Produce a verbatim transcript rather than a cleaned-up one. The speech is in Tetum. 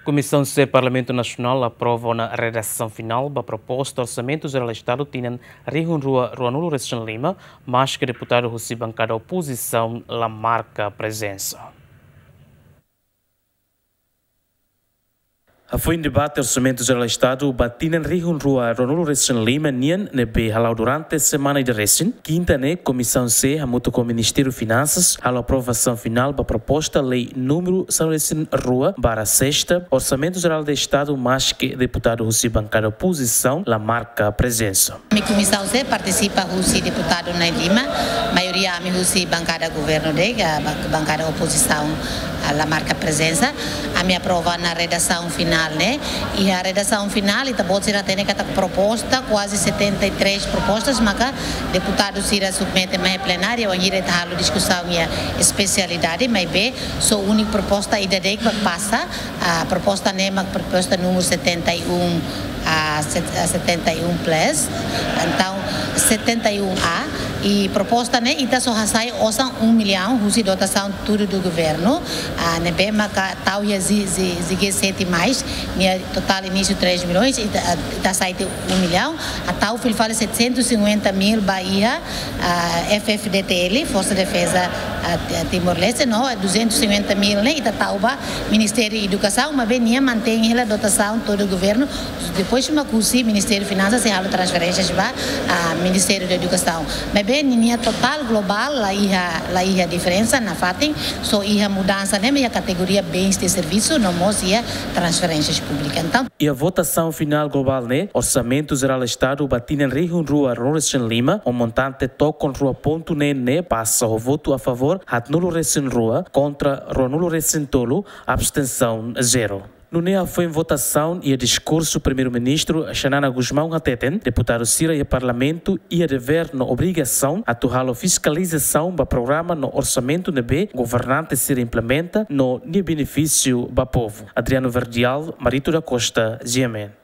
Komisaun C Parlamentu Nasionál aprova ona redasaun finál ba proposta Orsamentu Jerál Estadu tinan rihun rua ruanulu-resin-lima, maske deputadu husi bankada opozisaun la marka prezensa. Hafoin debate Orsamentu Jerál Estadu ba tinan rihun rua ruanulu-resin-lima nian ne'ebé hala'o durante semana ida resin, kinta ne'e Komisaun C hamutuk ho Ministériu Finansas halo aprovasaun finál ba proposta lei númeru sanulu-resin-rua barra sesta, Orsamentu Jerál Estadu, maske deputadu husi bankada opozisaun la marka prezensa. Ami Komisaun C partisipa husi deputadu na'in-lima, maioria ami husi bankada governu de'it, ah, ba-, bankada opozisaun, ah, la marka prezensa. Ami aprova ona redasaun finál ne'e. Iha redasaun finál, ita-boot sira hatene katak proposta kuaze setenta e três propostas maka deputadu sira submete mai plenária, wainhira ita halo diskusaun iha espesialidade, maibé só úniku proposta ida de'it mak pasa, ah, proposta ne'e mak proposta númeru setenta e um, ah, set-, ah, setenta e um plus, entaun setenta e um A, i proposta ne'e ita só hasai osan um milhão husi dotasaun todo do governo, ah, ne'ebé maka tau iha G-, G-, G G sete mais, nia totál inísiu três milhões, ita, ah, ita hasai tiha um milhão, entaun fila fali setecentos e cinquenta mil ba iha, ah, F F D T L, Forsa Defeza, ah, Ti-, Timor-Leste, no duzentos e cinquenta mil ne'e ita tau ba Ministériu Edukasaun, maibé nia mantein hela dotasaun todo governu, depois mak husi Ministériu Finansas sei halo transferénsias ba, ah, Ministériu Edukasaun. Maibé ninia totál globál la iha, la iha diferensa nafatin, só iha mudansa ne'e iha kategoria bens de serviço, no mós iha transferénsias públikas. Entaun, iha votasaun finál globál ne'e, Orsamentu Jerál Estadu ba tinan rihun rua ruanulu-resin-lima, ho montante tokon rua pontu neen ne'e pasa ho votu a favór haatnulu-resin-rua, kontra ruanulu-resin-tolu, abstensaun zero. Nune'e hafoin votasaun, iha diskursu Primeiru-Ministru Xanana Gusmão hateten, deputadu sira iha Parlamentu iha devér no obrigasaun atu halo fiskalizasaun ba programa no orsamentu ne'ebé governante sira implementa no nia benefísiu ba povu. Adriano Verdial, Marito da Costa, G M N.